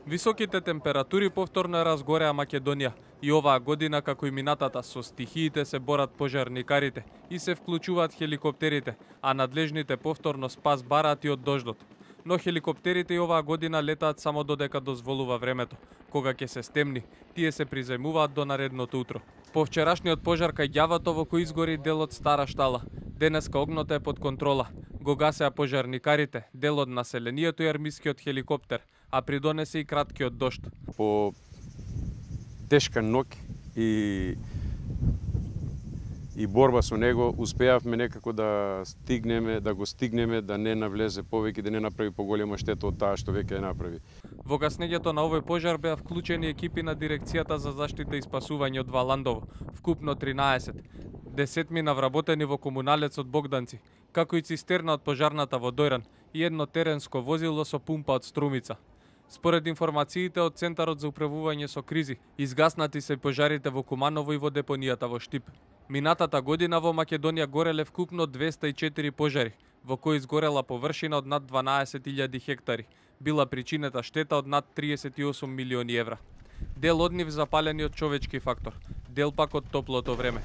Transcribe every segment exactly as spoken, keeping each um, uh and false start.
Високите температури повторно ја разгореа Македонија и оваа година, како и минатата, со стихиите се борат пожарникарите и се вклучуваат хеликоптерите, а надлежните повторно спас бараат и од дождот. Но хеликоптерите и оваа година летаат само додека дозволува времето. Кога ќе се стемни, тие се приземуваат до наредното утро. По вчерашниот пожар кај ѓавато во кој изгори дел од Стара Штала, денеска огнот е под контрола. Го гасеа пожарникарите, дел од населението и армискиот хеликоптер, а придонесе и краткиот дожд. По тешка ноќ и и борба со него успеавме некако да стигнеме, да го стигнеме, да не навлезе повеќе, да не направи поголема штета од таа што веќе ја направи. Во гаснењето на овој пожар беа вклучени екипи на Дирекцијата за заштита и спасување од Валандово, вкупно тринаесет, десетмина вработени во комуналецот Богданци, како и цистерна од пожарната во Дојран и едно теренско возило со пумпа од Струмица. Според информациите од Центарот за управување со кризи, изгаснати се пожарите во Куманово и во депонијата во Штип. Минатата година во Македонија гореле вкупно двеста и четири пожари, во кои изгорела површина од над дванаесет илјади хектари. Била причинета штета од над триесет и осум милиони евра. Дел од нив запалени од човечки фактор, дел пак од топлото време.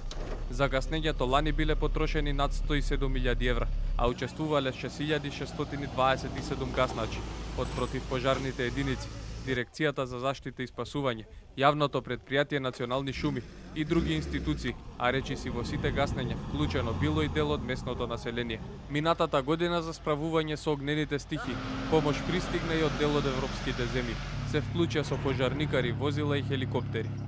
За гаснењето лани биле потрошени над сто и седум илјади евра, а учествувале шест илјади шестстотини дваесет и седум гасначи од противпожарните единици, Дирекцијата за заштита и спасување, Јавното предпријатие Национални шуми и други институции, а речиси во сите гаснења вклучено било и дел од местното население. Минатата година за справување со огнените стихии, помош пристигна и од дел од европските земји. Се вклучија со пожарникари, возила и хеликоптери.